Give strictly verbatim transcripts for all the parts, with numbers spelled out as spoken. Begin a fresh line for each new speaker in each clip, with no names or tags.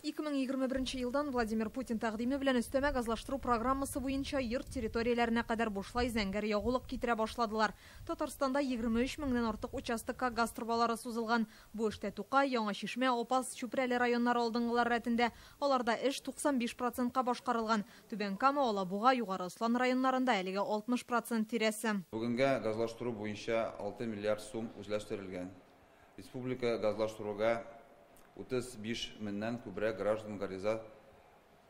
ике мең егерме беренче елдан Владимир Путин тәкъдиме белән өстәмә газлаштыру программасы буенча йорт территорияләренә кадәр бушлай зәңгәр ягулык китерә башладылар. Татарстанда егерме өч меңнән артык участокка газ торбалары сузылган. Бу эштә Тукай, Яңа Чишмә, Апас, Чүпрәле районнары алдынгылар рәтендә. Аларда эш туксан биш процентка башкарылган. Түбән Кама, Алабуга, Югары Ослан районнарында әлегә алтмыш процент тирәсе.
Бүгенгә газлаштыру буенча алты миллиард сум үзләштерелгән. Республика газлаштыруга утыз биш меңнән күбрәк граждан гариза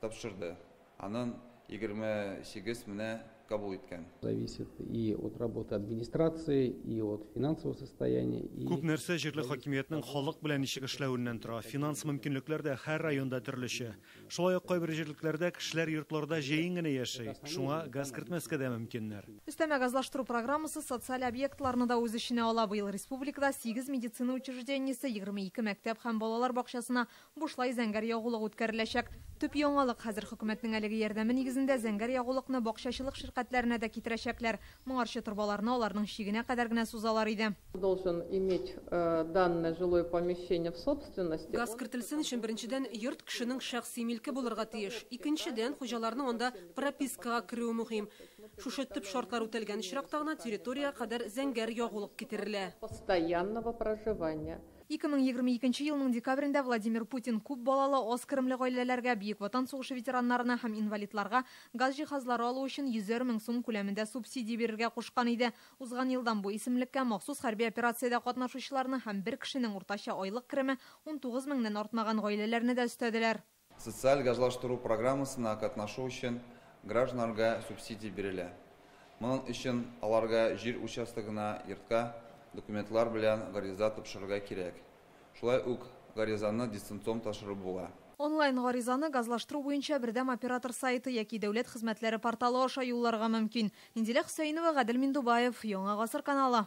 тапшырды. Аның егерме сигез меңе кабул иткән.
Зависит и от работы администрации, и от финансового состояния. И
Күп нәрсә җирле хакимиятнең халык белән ничек эшләвеннән тора. Финанс мөмкинлекләр дә һәр районда төрлечә. Шулай ук кайбер җирлекләрдә кешеләр йортларда җәен генә яши. Шуңа газ кертмәскә дә мөмкиннәр.
Өстәмә газлаштыру программасы социаль объектларны да үз эченә ала. Быел республикада сигез медицина учреждениесе, егерме ике мәктәп һәм балалар бакчасына бушлай зәңгәр ягулык үткәреләчәк. Төп яңалык хәзер хөкүмәтнең әлеге ярдәме нигезендә зәңгәр ягулыкны бакчачылык ширкәтләренә дә китерәчәкләр. Моңарчы торбаларны аларның чигенә кадәр генә сузалар иде.
Должен иметь, э, данное жилое помещение в собственности.
Газ кертелсен өчен беренчедән йорт кешенең шәхси милке булырга тиеш. Икенчедән хуҗаларның анда пропискага керүе мөһим. Шушы төп шартлар үтәлгән очракта гына территориягә кадәр зәңгәр ягулык китерелә.
Постоянного проживания.
ике мең егерме икенче елның декабрендә Владимир Путин күп балалы аз керемле гаиләләргә, Бөек Ватан сугышы ветераннарына һәм инвалидларга газ җиһазлары алу өчен йөзәр мең сум күләмендә субсидия бирергә кушкан иде. Узган елдан бу исемлеккә махсус хәрби операциядә катнашучыларны һәм бер кешенең уртача айлык кереме унтугыз меңнән артмаган гаиләләрне дә өстәделәр.
Социаль газлаштыру программасына катнашу өчен гражданнарга субсидия бирелә. Моның өчен аларга җир участогына, йортка документлар белән гариза тапшырырга кирәк. Шулай ук гаризаны дистанцион тапшырып була.
Онлайн гаризаны газлаштыру буенча бердәм оператор сайты яки дәүләт хезмәтләре порталы аша юлларга мөмкин. Индилә Хөсәенова, Гадел Миндубаев, Яңа Гасыр каналы.